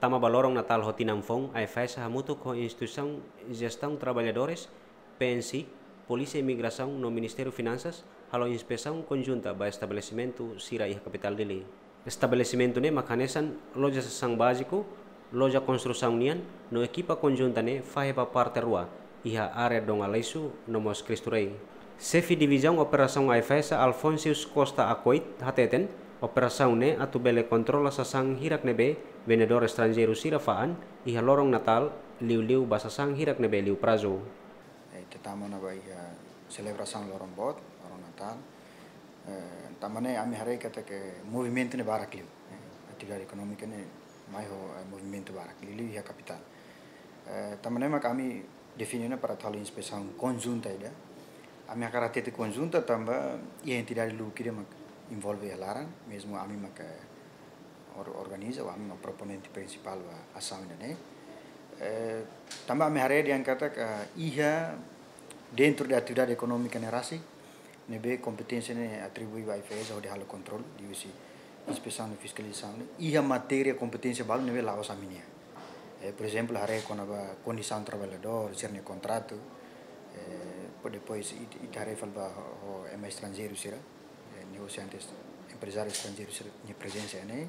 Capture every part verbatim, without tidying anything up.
Tama ba loron Natál ho tinan foun, AIFAESA hamutuk ho Instituisaun Jestaun Traballadores, PNC, Polísia Imigrasaun no Ministériu Finansas halo inspesaun konjunta ba estabelesimentu sira iha kapitál Dili. Estabelesimentu ne'e mak hanesan loja sasán báziku, loja konstrusaun nian, no ekipa konjunta ne'e fahe ba parte rua, iha área Dom Aleixo no mós Cristo Rei. Xefe Divizaun Operasaun AIFAESA Alfonsius Costa Acoit hateten, operasaun ne'e atu bele kontrola sasán hirak ne'ebé vendedór estranjeiru sira fa'an iha loron Natál, liuliu ba sasán hirak ne'ebé liu prazu. Eh, ita tama ona ba iha selebrasaun loron boot, loron Natál. Eh, tanba ne'e ami haree katak movimentu ne'e barak liu. Eh, atividade ekonómika ne'e mai ho, eh, movimentu barak liu, liu iha kapitál. Eh, tanba ne'e mak ami define ona para atu halo inspesaun konjunta ida. Ami hakarak hatete konjunta tanba iha entidade lubuk ida mak envolve iha laran, mezmu ami mak, eh, or-, organiza, ami mak proponente prinsipál ba asaun ida-ne'e. Eh, tanba ami haree dehan katak iha dentro de atividade ekonómika ne'e rasik, ne'ebé kompeténsia ne'e atribui ba AIFAESA hodi halo kontrolu, liuhusi inspesaun no fiskalizasaun ne'e, iha matéria kompeténsia balu ne'ebé la'ós ami-nian. Eh, por ezemplu, haree kona-ba kondisaun traballadór, sira-nia kontratu, eh, po-, depois it-, ita haree fali ba ho, ho ema estranjeiru sira, eh, negosiantes, emprezáriu estranjeiru sira-nia prezensa ne'e.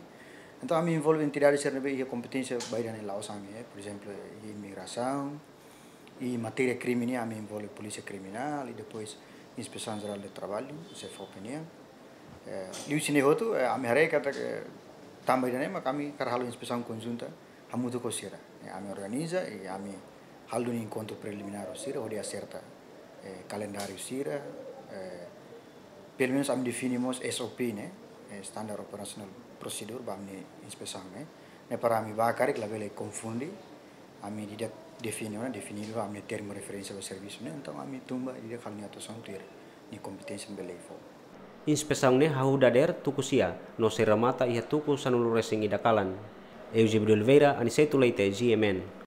Entaun, ami envolve entidade sira ne'ebé iha kompeténsia ba ida-ne'e la'ós ami, eh, por ezemplu, iha imigrasaun, i matéria krime nian ami envolve Polísia Kriminál, i depois Inspesaun Jerál de Traballu, SEFOPE nian. Eh, liuhusi ne'e hotu, eh, ami haree katak, eh, tanba ida-ne'e mak ami hakarak halo inspesaun konjunta hamutuk ho sira. Eh, ami organiza, i ami halo enkontru preliminár ho sira, hodi aserta, eh, kalendáriu sira, eh, pelumenus ami define mós SOP ne'e, eh, Standard Operational Procedure, ba ami-nia inspesaun ne'e. Ne'e para ami ba karik labele konfunde, ami ida define ona, define ona ami-nia termu referénsia ba servisu ne'e, entaun ami tun ba ida halo nia atuasaun tuir nia kompeténsia bele fó. Inspesaun ne'e hahú dadeer tuku sia, no sei remata iha tuku sanulu-resin-ida kalan. Eusébio de Oliveira, Aniceto Leite, G M N.